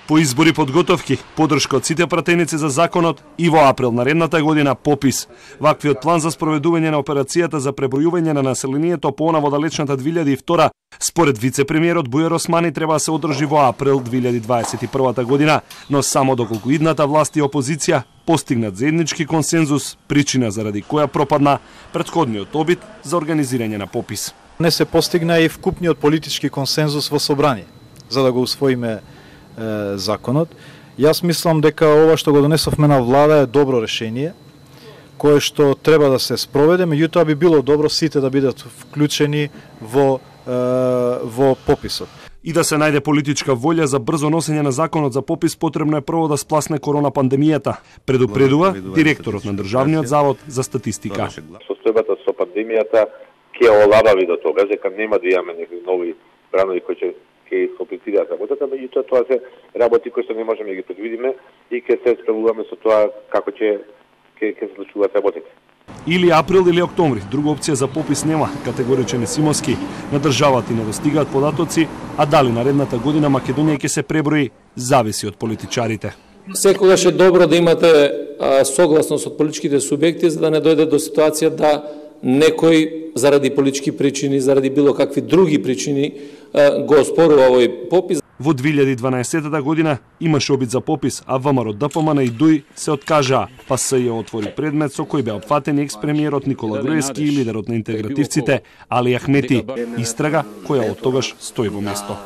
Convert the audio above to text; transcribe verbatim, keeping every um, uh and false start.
По избори подготовки, подршка од сите пратеници за законот и во април наредната година попис. Ваквиот план за спроведување на операцијата за пребројување на населението по она во далечната две илјади и втора, според вице-премиерот Бујар Османи, треба да се одржи во април две илјади дваесет и прва година, но само доколку идната власт и опозиција постигнат заеднички консензус, причина заради која пропадна претходниот обид за организирање на попис. Не се постигна и вкупниот политички консензус во собрание за да го усвоиме е, законот. Јас мислам дека ова што го донесовме на влада е добро решение, кое што треба да се спроведе, меѓутоа би било добро сите да бидат вклучени во е, во пописот. И да се најде политичка волја за брзо носење на законот за попис, потребно е прво да спласне корона пандемијата, предупредува директорот на Државниот завод за статистика. Состојбата со пандемијата ќе олабави до тога, дека нема да имаме некои нови бранови кои ќе ќе искомплицираат работата, меѓутоа тоа се работи кои што не можеме да ги предвидиме и ќе се справуваме со тоа како ќе ќе ќе се случуваат работите. Или април или октомври, друга опција за попис нема, категоричен е Симонски. На државата и не достигаат податоци, а дали наредната година Македонија ќе се преброи, зависи од политичарите. Секогаш е добро да имате а, согласност од политичките субјекти за да не дојде до ситуација да некој заради политички причини, заради било какви други причини го оспорува овој попис. Во две илјади и дванаесета година имаше обид за попис, а ВМРО, ДПМН и ДУИ се откажаа, па СЈ отвори предмет со кој беа опфатени екс-премиерот Никола Груевски и лидерот на интегративците Али Ахмети. Истрага која од тогаш стои во место.